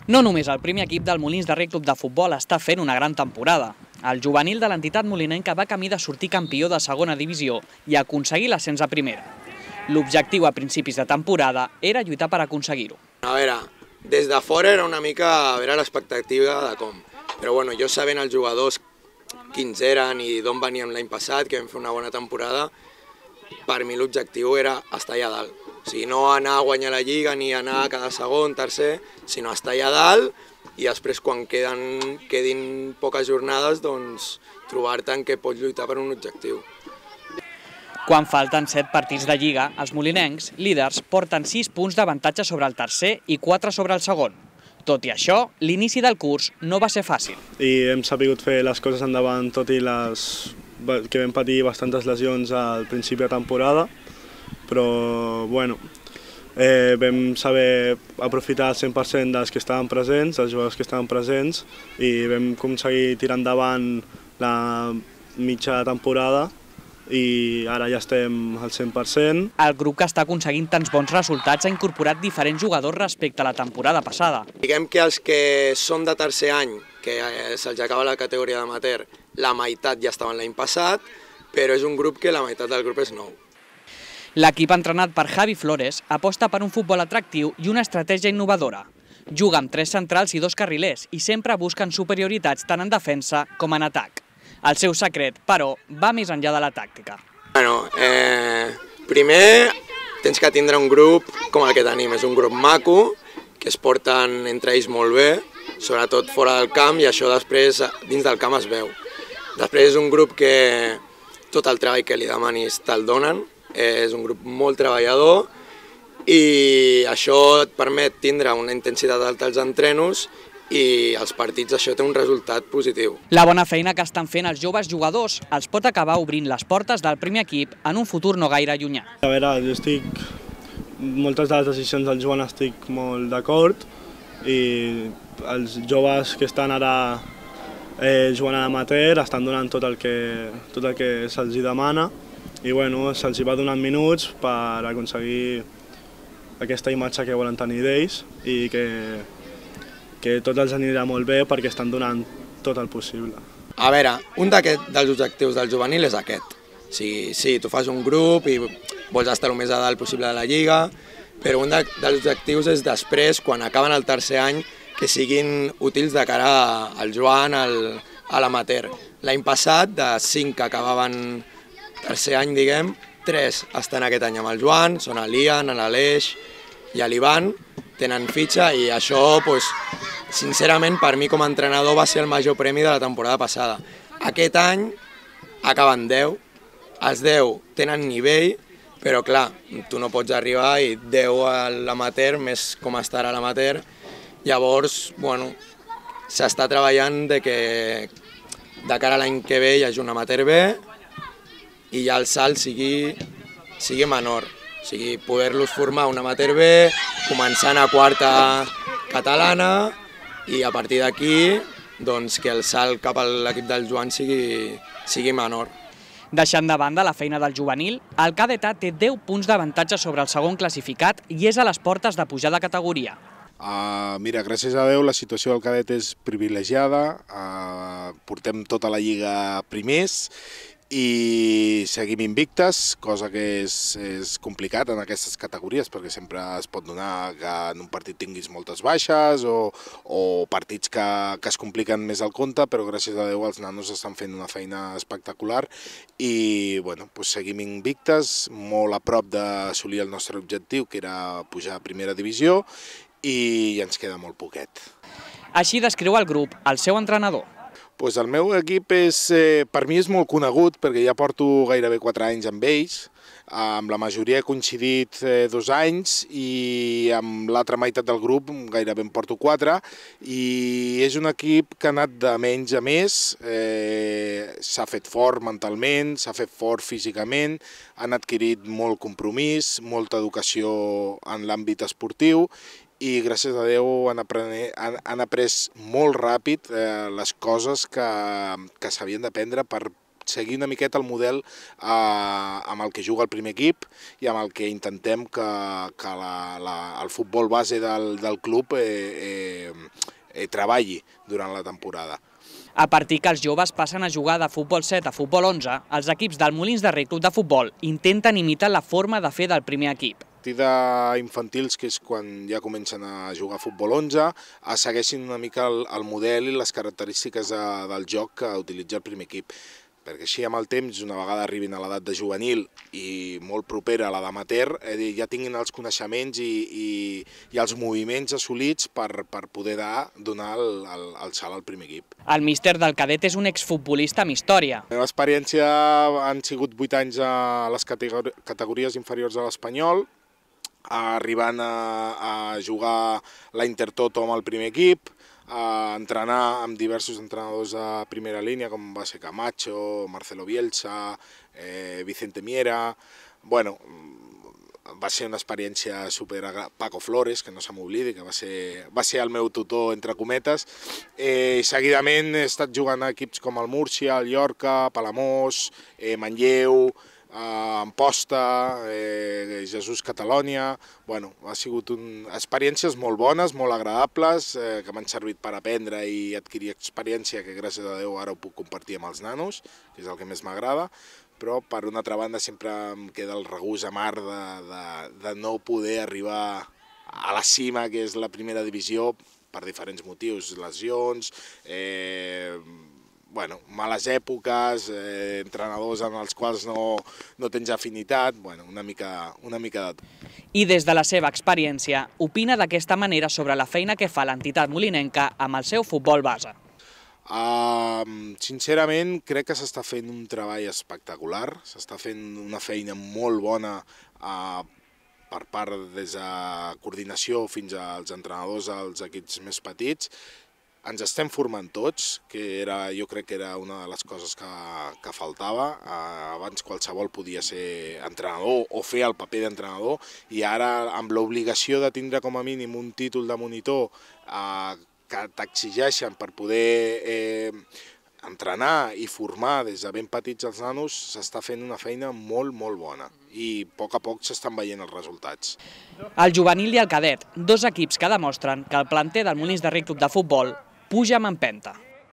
No només el primer equip del Molins de Rei Club de Futbol està fent una gran temporada. El juvenil de l'entitat molinenca va camí de sortir campió de segona divisió i aconseguir l'ascens a primera. L'objectiu a principis de temporada era lluitar per aconseguir-ho. A veure, des de fora era una mica a veure l'expectativa de com. Però bueno, jo sabent els jugadors quins eren i d'on veníem l'any passat, que vam fer una bona temporada, per mi l'objectiu era estar allà dalt. O sigui, no anar a guanyar la Lliga ni anar a cada segon, tercer, sinó estar allà dalt i després quan quedin poques jornades, doncs trobar-te en què pots lluitar per un objectiu. Quan falten 7 partits de Lliga, els molinencs, líders, porten 6 punts d'avantatge sobre el tercer i 4 sobre el segon. Tot i això, l'inici del curs no va ser fàcil. I hem sabut fer les coses endavant, tot i que vam patir bastantes lesions al principi de temporada, però bueno, vam saber aprofitar el 100% dels que estaven presents, dels jugadors que estaven presents, i vam aconseguir tirar endavant la mitja temporada i ara ja estem al 100%. El grup que està aconseguint tants bons resultats ha incorporat diferents jugadors respecte a la temporada passada. Diguem que els que són de tercer any, que se'ls acaba la categoria d'amateur, la meitat ja estaven l'any passat, però és un grup que la meitat del grup és nou. L'equip entrenat per Javi Flores aposta per un futbol atractiu i una estratègia innovadora. Juga amb 3 centrals i 2 carrilers i sempre busquen superioritats tant en defensa com en atac. El seu secret, però, va més enllà de la tàctica. Primer tens que tindre un grup com el que tenim. És un grup maco, que es porten entre ells molt bé, sobretot fora del camp, i això després dins del camp es veu. Després és un grup que tot el treball que li demanis te'l donen, és un grup molt treballador i això et permet tindre una intensitat alta als entrenos i als partits això té un resultat positiu. La bona feina que estan fent els joves jugadors els pot acabar obrint les portes del primer equip en un futur no gaire llunyà. A veure, moltes de les decisions del Joan estic molt d'acord i els joves que estan ara jugant a l'amateur estan donant tot el que se'ls demana i bueno, se'ls va donant minuts per aconseguir aquesta imatge que volen tenir d'ells i que tot els anirà molt bé perquè estan donant tot el possible. A veure, un dels objectius del juvenil és aquest. Sí, tu fas un grup i vols estar el més a dalt possible de la Lliga, però un dels objectius és després, quan acaben el tercer any, que siguin útils de cara al Joan, a l'amateur. L'any passat, de 5 que acabaven tercer any, diguem, 3 estan aquest any amb el Joan, són l'Ian, l'Aleix i l'Ivan, tenen fitxa i això, sincerament, per mi com a entrenador va ser el major premi de la temporada passada. Aquest any acaben 10, els 10 tenen nivell, però clar, tu no pots arribar i 10 a l'amateur, més com estarà l'amateur, llavors, bueno, s'està treballant de cara a l'any que ve hi hagi un amateur B i ja el salt sigui menor. O sigui, poder-los formar un amateur B, començant a quarta catalana i a partir d'aquí que el salt cap a l'equip del Joan sigui menor. Deixant de banda la feina del juvenil, el cadet A té 10 punts d'avantatge sobre el segon classificat i és a les portes de pujar de categoria. Mira, gràcies a Déu la situació del cadet és privilegiada, portem tota la Lliga primers i seguim invictes, cosa que és complicat en aquestes categories perquè sempre es pot donar que en un partit tinguis moltes baixes o partits que es compliquen més al compte, però gràcies a Déu els nanos estan fent una feina espectacular i bueno, seguim invictes, molt a prop d'assolir el nostre objectiu, que era pujar a primera divisió, i ens queda molt poquet. Així descriu el grup el seu entrenador. El meu equip per mi és molt conegut perquè ja porto gairebé 4 anys amb ells, amb la majoria he coincidit 2 anys i amb l'altra meitat del grup gairebé en porto 4 i és un equip que ha anat de menys a més, s'ha fet fort mentalment, s'ha fet fort físicament, han adquirit molt compromís, molta educació en l'àmbit esportiu i gràcies a Déu han après molt ràpid les coses que s'havien d'aprendre per seguir una miqueta el model amb el que juga el primer equip i amb el que intentem que el futbol base del club treballi durant la temporada. A partir que els joves passen a jugar de futbol 7 a futbol 11, els equips del Molins de Rei Club de Futbol intenten imitar la forma de fer del primer equip. A partir d'infantils, que és quan ja comencen a jugar a futbol 11, segueixin una mica el model i les característiques del joc que utilitza el primer equip. Perquè així amb el temps, una vegada arribin a l'edat de juvenil i molt propera a la d'amateur, ja tinguin els coneixements i els moviments assolits per poder donar el salt al primer equip. El míster del cadet és un exfutbolista amb història. La meva experiència han sigut 8 anys a les categories inferiors de l'Espanyol, arribant a jugar la Intertoto amb el primer equip, a entrenar amb diversos entrenadors de primera línia, com va ser Camacho, Marcelo Bielsa, Vicente Miera. Bueno, va ser una experiència super... Paco Flores, que no se m'oblidi, que va ser el meu tutor, entre cometes. Seguidament he estat jugant a equips com el Múrcia, el Llorca, Palamós, Manlleu, Amposta, Jesús Catalònia. Bueno, ha sigut experiències molt bones, molt agradables, que m'han servit per aprendre i adquirir experiència que gràcies a Déu ara ho puc compartir amb els nanos, que és el que més m'agrada, però per una altra banda sempre em queda el regús amar de no poder arribar a la cima, que és la primera divisió, per diferents motius, lesions, males èpoques, entrenadors amb els quals no tens afinitat, una mica de tot. I des de la seva experiència, opina d'aquesta manera sobre la feina que fa l'entitat molinenca amb el seu futbol base. Sincerament, crec que s'està fent un treball espectacular, s'està fent una feina molt bona per part des de coordinació fins als entrenadors dels equips més petits. Ens estem formant tots, que jo crec que era una de les coses que faltava. Abans qualsevol podia ser entrenador o fer el paper d'entrenador i ara amb l'obligació de tindre com a mínim un títol de monitor que t'exigeixen per poder entrenar i formar des de ben petits els nanos, s'està fent una feina molt, molt bona i a poc s'estan veient els resultats. El juvenil i el cadet, dos equips que demostren que el planter del Molins de Rei Club de Futbol puja amb empenta.